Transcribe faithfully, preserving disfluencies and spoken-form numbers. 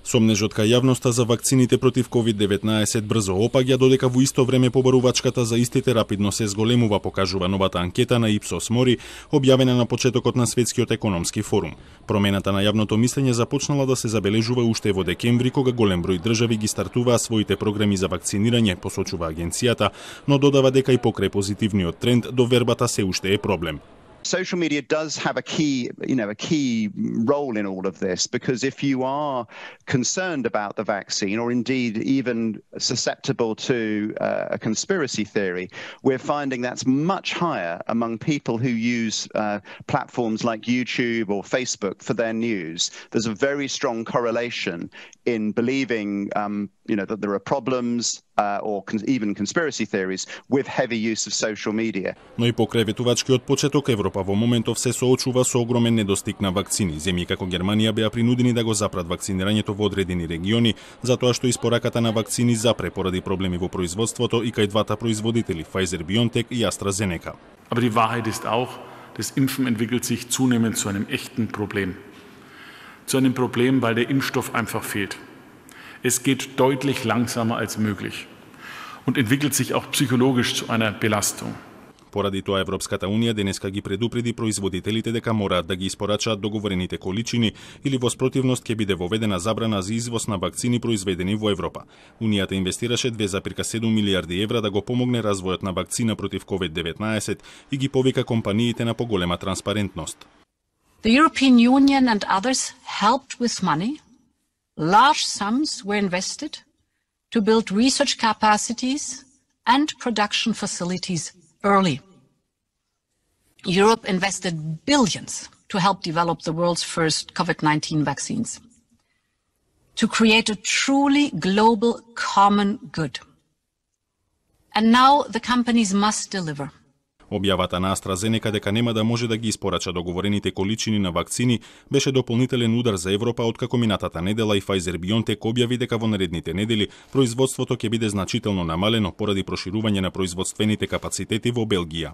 Сомнежот кај јавноста за вакцините против ковид деветнаесет брзо опаѓа, додека во исто време побарувачката за истите рапидно се зголемува, покажува новата анкета на Ipsos Mori, објавена на почетокот на Светскиот економски форум. Промената на јавното мислење започнала да се забележува уште во декември, кога голем број држави ги стартуваа своите програми за вакцинирање, посочува агенцијата, но додава дека и покрај позитивниот тренд, довербата се уште е проблем. Social media does have a key, you know, a key role in all of this, because if you are concerned about the vaccine, or indeed even susceptible to uh, a conspiracy theory, we're finding that's much higher among people who use uh, platforms like YouTube or Facebook for their news. There's a very strong correlation in believing, um, you know, that there are problems uh, or con even conspiracy theories with heavy use of social media. Но и покрај ветувачкиот почеток, Европа во моментов се соочува со огромен недостиг на вакцини. Земји како Германија беа принудени да го запрат вакцинирањето во одредени региони, затоа што испораката на вакцини запре поради проблеми во производството и кај двата производители Pfizer-BioNTech и AstraZeneca. Aber die Wahrheit ist auch, das Impfen entwickelt sich zunehmend zu einem echten Problem. Zu einem Problem, weil der Impfstoff einfach fehlt. Es geht deutlich langsamer als möglich und entwickelt sich auch psychologisch zu einer Belastung. Поради тоа Европската унија денеска ги предупреди производителите дека мораат да ги испорачаат договорените количини или во спротивност ќе биде воведена забрана за извоз на вакцини произведени во Европа. Унијата инвестираше две zarez седум милијарди евра да го помогне развојот на вакцина против ковид деветнаесет и ги повика компаниите на поголема транспарентност. The European Union and others helped with money. Large sums were invested to build research capacities and production facilities early. Europe invested billions to help develop the world's first COVID nineteen vaccines, to create a truly global common good. And now the companies must deliver. Објавата на AstraZeneca дека нема да може да ги испорача договорените количини на вакцини беше дополнителен удар за Европа, откако минатата недела и Pfizer-BioNTech објави дека во наредните недели производството ќе биде значително намалено поради проширување на производствените капацитети во Белгија.